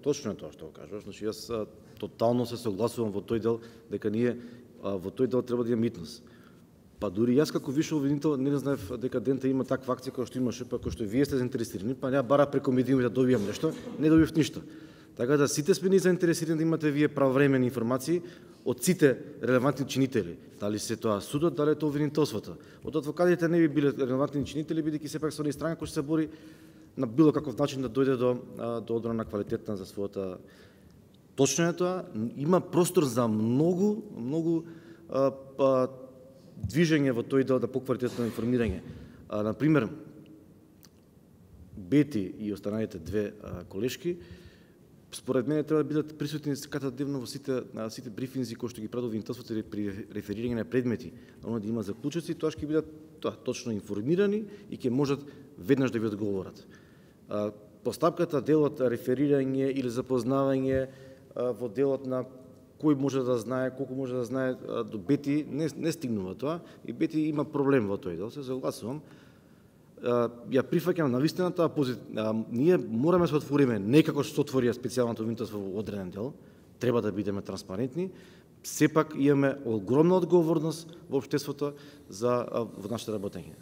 точно е тоа што го кажуваш. Значи јас тотално се согласувам во тој дел дека ние во тој дел треба да имаме митност. Па дури јас како висше обвинител не знаев дека Дента има таква акција која што имаше, па кој што вие сте заинтересирани, па ја бара преку медиуми да добијам нешто, не добив ништо. Така да сите сме ни заинтересирани да имате вие правовремени информации од сите релевантни чинители. Дали се тоа судот, дали е тоа обвинителството. Од адвокатите не би биле релевантни чинители, бидејќи сепак се они странка кои се бори на било каков начин да дојде до одбрана на квалитетна за својата. Точно е тоа, има простор за многу движење во тој дел да поквалитетно информирање. Например, Бети и останалите две колешки, според мене треба да бидат присутни секако-дневно во сите брифинзи кои што ги прави обвинителството при реферирање на предмети, оно да има заклучоци, тоа ќе бидат точно информирани и ќе можат веднаш да ви одговорат. Постапката, делот реферирање или запознавање во делот на кој може да знае, колку може да знае, до Бети не стигнува тоа и Бети има проблем во тој дел, се согласувам. Ја прифаќам навистина таа позиција. Ние мораме да се отвориме не како што отвори специјалното обвинителство во одреден дел, треба да бидеме транспарентни. Сепак имаме огромна одговорност во општеството во нашето работење.